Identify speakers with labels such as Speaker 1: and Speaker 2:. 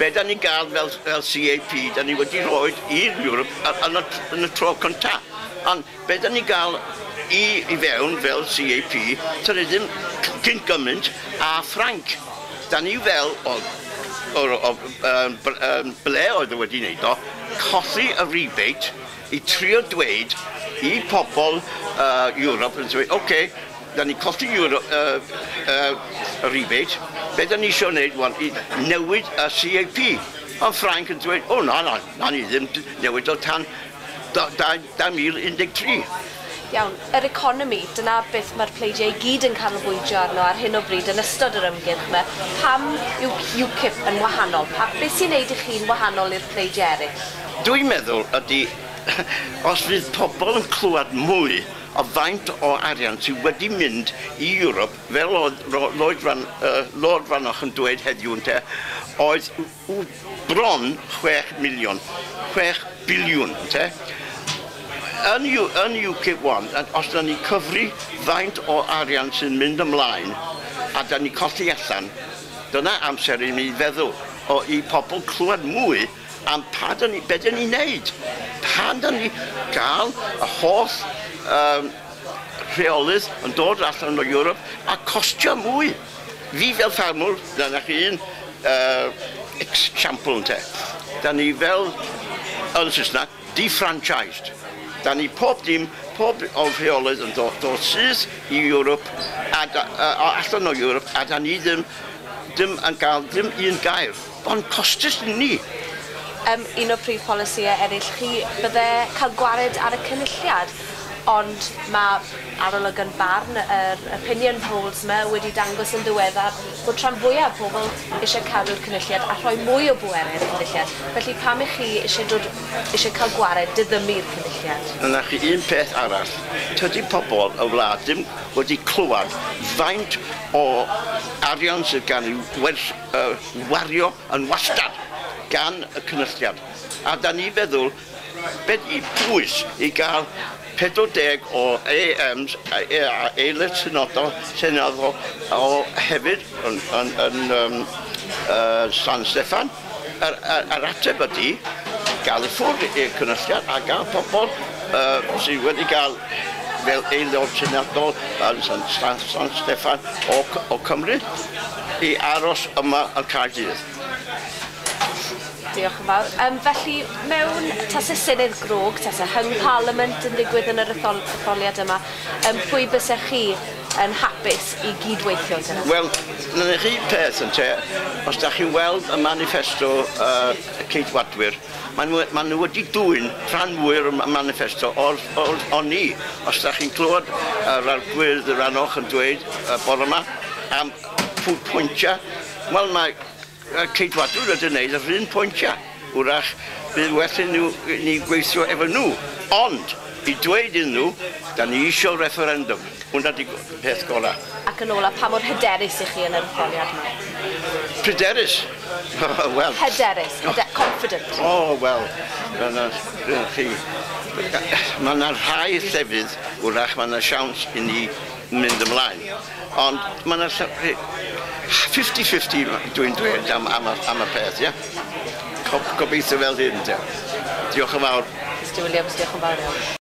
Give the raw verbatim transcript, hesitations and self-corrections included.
Speaker 1: Be da ni gael fel, fel C A P, da ni wedi rhoi i'r Ewrop yn y, yn y tro cynta. Ond be da ni gael i, i fewn fel C A P, da ni ddim cyn gymaint a Ffrainc. Da ni fel, o, o, o, um, um, ble oedd e wedi wneud o, colli y rebate i trio dweud i pobl uh, Ewrop yn dweud, "Okay, okay, da ni colli Euro, uh, uh, y rebate, be da ni eisiau wneud wan i newid y C A P" Ond Ffrainc yn dweud, "O na, na, na ni ddim newid o tan dwy fil un deg tri"
Speaker 2: Iawn, yr economi, dyna beth mae'r pleidiau i gyd yn canolbwyntio arno ar hyn o bryd yn ystod yr ymgyrch yma. Pam yw UKIP yn wahanol? Pa, beth sy'n neud i chi'n wahanol i'r pleidiau eraill?
Speaker 1: Dwi'n meddwl ydy, os fydd pobl yn clywed mwy o faint o arian sydd wedi mynd i Ewrop, fel oedd Lloyd, Ran, uh, Lord Rannoch yn dweud heddiw ynte, oedd bron chwech miliwn, chwech biliwn, ynte? Yn, yn UKIP un, os da ni cyfri faint o arian sy'n mynd ymlaen a da ni colli allan, dyna amser i ni feddwl o i pobl clywed mwy am pa da ni, be da ni'n neud. Pan da ni gael y holl um, rheolydd yn dod allan o Ewrop a costio mwy. Fi fel ffarmwr, dyna chi un uh, example ynte. Da ni fel, yn Saesneg, defranchised. Da ni pob dim, pob o'r rheolydd yn dod, dod syth i Ewrop, a, da, uh, allan o Ewrop, a da ni ddim, ddim yn gael ddim un gair. Ond costus ni.
Speaker 2: Um, un o'r prif polisïau eraill chi bydde cael gwared ar y Cynulliad, ond mae arolygon barn, yr opinion polls yma wedi dangos yn ddiweddar bod rhan fwyaf o pobl eisiau cadw'r Cynulliad a rhoi mwy o bwerau i'r Cynulliad. Felly pam ych chi eisiau, dod, eisiau cael gwared, diddymu'r Cynulliad?
Speaker 1: Yna chi un peth arall. Tydi pobl y wlad ddim wedi clywed faint o arian sydd gan ei werth, uh, wario yn wastad gan y Cynulliad. A da ni feddwl, beth i pwys i gael pedwar deg o A Ms a aelod seneddol, seneddol o hefyd yn, yn, yn um, uh, San Steffan. Yr, yr, yr ateb ydy gael i ffwrdd i'r Cynulliad a gael pobl uh, sydd wedi gael fel aelod seneddol yn San, San, San Steffan o, o Cymru i aros yma yn Caerdydd.
Speaker 2: Diolch yn fawr. Um, felly, mewn tase Senedd grog, tase hung parliament yn digwydd yn yr ethol etholiad yma, um, pwy bysech chi yn hapus i gydweithio gyda?
Speaker 1: Wel, na chi peth yn te, os da chi'n weld y manifesto uh, Ceidwadwyr, maen nhw, ma nhw wedi dwyn rhan fwy o'r manifesto o'r, or, o ni. Os da chi'n clywed yr arglwydd Rannoch yn dweud uh, bore yma am pwyntiau, wel, mae Ceidwadwyr wedi gwneud yr un pwyntiau. Wrach, bydd well i nhw, ni gweithio efo nhw. Ond, i dweud iddyn nhw, da ni eisiau referendum. Hwna di peth gorau.
Speaker 2: Ac yn ola, pa mor hyderus i chi yn yr etholiad yma?
Speaker 1: Pryderus? Wel.
Speaker 2: Hyderus, hyder, confident.
Speaker 1: O, oh, wel, dyna chi. Mae yna rhai llefydd, wrach, mae yna siawns i ni mynd ymlaen. Ond mae yna fifty fifty dwi'n dweud am, am, am y peth, ie? Gobeithio fel hyn, te. Diolch yn fawr.
Speaker 2: Mister Williams, diolch yn fawr iawn.